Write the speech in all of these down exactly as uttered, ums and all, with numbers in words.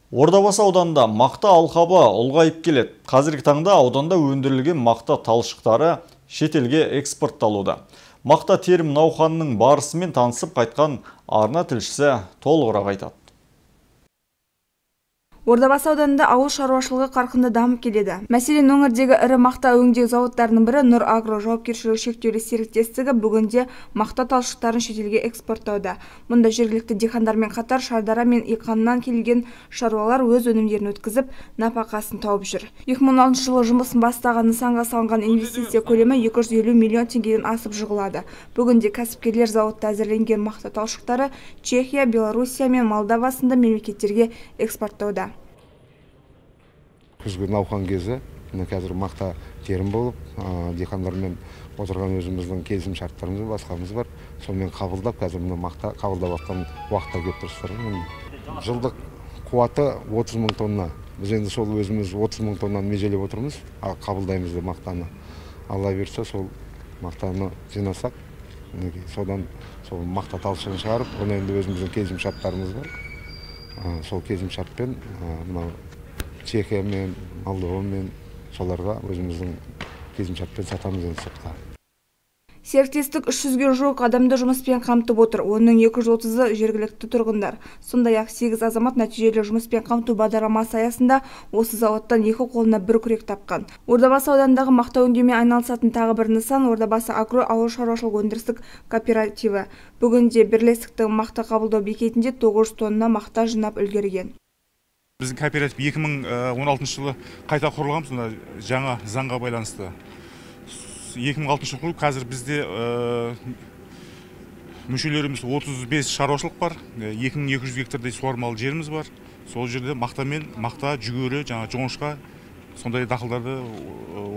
Ордабасы ауданында мақта алқабы ұлғайып келеді. Қазіргі таңда ауданда өндірілген мақта талшықтары шетелге экспортталуда. Мақта терім науқанының барысымен танысып қайтқан арна тілшісі толығырақ айтады. Ордабасы ауданында ауыл шаруашылығы қарқынды дамып келеді. Мәселен, өңірдегі ірі мақта өңдеу зауыттарының бірі Нұр Агро жауапкершілігі шектеулі серіктестігі бүгінде мақта талшықтарын шетелге экспорттауда. Мұнда жергілікті диқандармен қатар Шардара мен Иқаннан келген шаруалар өз өнімдерін өткізіп, нәпақасын тауып жүр. екі мың он алтыншы жылы жұмысын бастаған нысанға салынған инвестиция көлемі екі жүз елу миллион теңгеден асып жығылады. Бүгінде кәсіпкерлер зауытта әзірленген мақта талшықтары Чехия, Белоруссия мен Молдова сынды мемлекеттерге экспорттауда. Күзгі науқан кезі, қазір мақта терім болып, диқандармен отырған өзіміздің келісім шарттарымыз, басқамыз бар. Сонымен қабылдап, қазір мына мақта қабылдап атқан уақытта келіп тұрсыздар. Жылдық қуаты отыз мың тонна. Біз енді сол өзіміз отыз мың тоннаны межелеп отырмыз, қабылдаймыз да мақтаны. Алла берсе, сол мақтаны жинасақ, содан сол мақта талшығын шығарып, оны енді өзіміздің келісім шарттарымыз бар. Сол келісім шартпен мынау Чехия мен Молдова мен соларға өзіміздің келісімшартпен сатамыз енді сыртқа. Серіктестік үш жүзге жуық адамды жұмыспен қамтып отыр. Оның екі жүз отызы жергілікті тұрғындар. Сондай-ақ сегіз азамат нәтижелі жұмыспен қамту бағдарламасы аясында осы зауыттан екі қолына бір күрек тапқан. Ордабасы ауданындағы мақта өңдеумен айналысатын тағы бір нысан Ордабасы агро ауыл шаруашылық өндірістік кооперативі. Бүгінде бірлестіктің мақта қабылдау бекетінде тоғыз жүз тонна мақта жинап үлгерген. Біздің кооператив екі мың он алтыншы жылы қайта құрылған, жаңа заңға байланысты. екі мың алтыншы жылы қазір бізде мүшелеріміз отыз бес шаруашылық бар, екі мың екі жүз гектардай суармалы жеріміз бар. Сол жерде мақтамен, мақта, жүгері, жаңа жоңышқа, сондай дақылдарды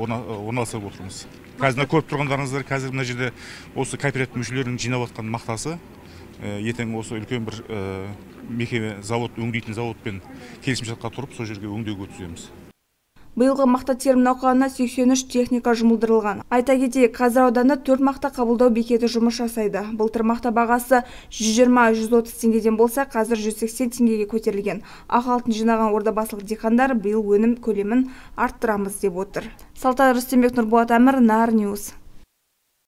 орналастырып отырмыз. Қазір көріп тұрғандарыңыздар, қазір мына жерде осы кооператив мүшелерінің жинап атқан мақтасы, ертең осы үлкен бір мекеме завод, өңдейтін заводпен келісімшартқа тұрып, сол жерге өңдеуге өткіземіз. Биылғы мақта терім науқанына сексен үш техника жұмылдырылған. Айта кетейік, қазір ауданда төрт мақта қабылдау бекеті жұмыс жасайды. Былтыр мақта бағасы жүз жиырма — жүз отыз теңгеден болса, қазір жүз сексен теңгеге көтерілген. Ақ алтын жинаған ордабасылық диқандар биыл өнім көлемін арттырамыз деп отыр. Салтан Рүстембек, Нұрболат Әмір, Нар Ньюс.